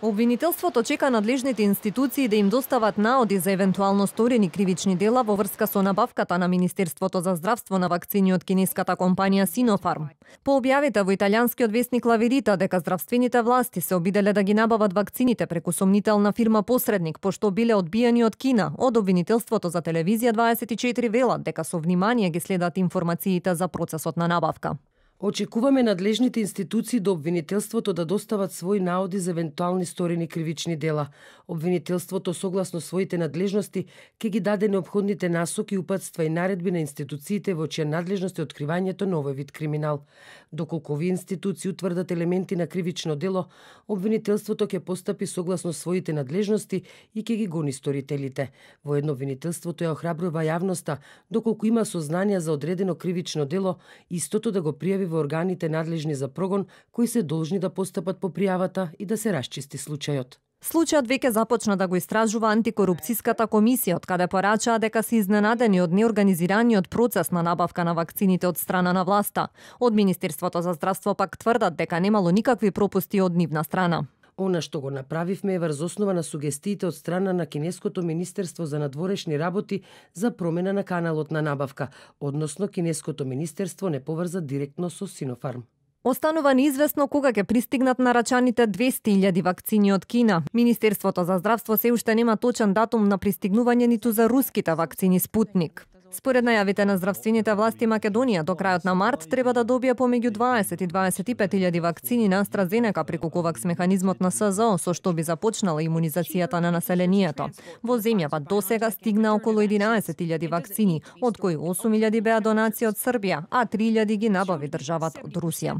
Обвинителството чека надлежните институции да им достават наоди за евентуално сторени кривични дела во врска со набавката на Министерството за здравство на вакцини од кинеската компанија Sinopharm. По објавите во италијанскиот весник La Verità дека здравствените власти се обиделе да ги набават вакцините преку сомнителна фирма посредник, пошто биле одбиени од Кина, од обвинителството за телевизија 24 велат дека со внимание ги следат информациите за процесот на набавка. Очекуваме надлежните институции до обвинителството да достават своји наоди за евентуални сторени кривични дела. Обвинителството согласно своите надлежности ќе ги даде неопходните насоки, упатства и наредби на институциите во чија надлежност е откривањето на овој вид криминал. Доколку овие институции утврдат елементи на кривично дело, обвинителството ќе постапи согласно своите надлежности и ќе ги гони сторителите. Воедно обвинителството ја охрабрува јавноста, доколку има сознанија за одредено кривично дело, истото да го пријави во органите надлежни за прогон, кои се должни да постапат по пријавата и да се расчисти случајот. Случајот веќе започна да го истражува антикорупцијската комисија, од каде порачаа дека се изненадени од неорганизираниот процес на набавка на вакцините од страна на власта. Од Министерството за здравство пак тврдат дека немало никакви пропусти од нивна страна. Она што го направивме е врз основа на сугестиите од страна на Кинеското Министерство за надворешни работи за промена на каналот на набавка, односно Кинеското Министерство не поврза директно со Sinopharm. Останува неизвестно кога ќе пристигнат нарачаните 200.000 вакцини од Кина. Министерството за здравство се уште нема точен датум на пристигнување ниту за руските вакцини Спутник. Според најавите на здравствените власти, Македонија до крајот на март треба да добие помеѓу 20 и 25.000 вакцини на AstraZeneca преку ковакс механизмот на СЗО, со што би започнала имунизацијата на населението. Во земјава досега стигна околу 11.000 вакцини, од кои 8.000 беа донации од Србија, а 3.000 ги набави државата од Русија.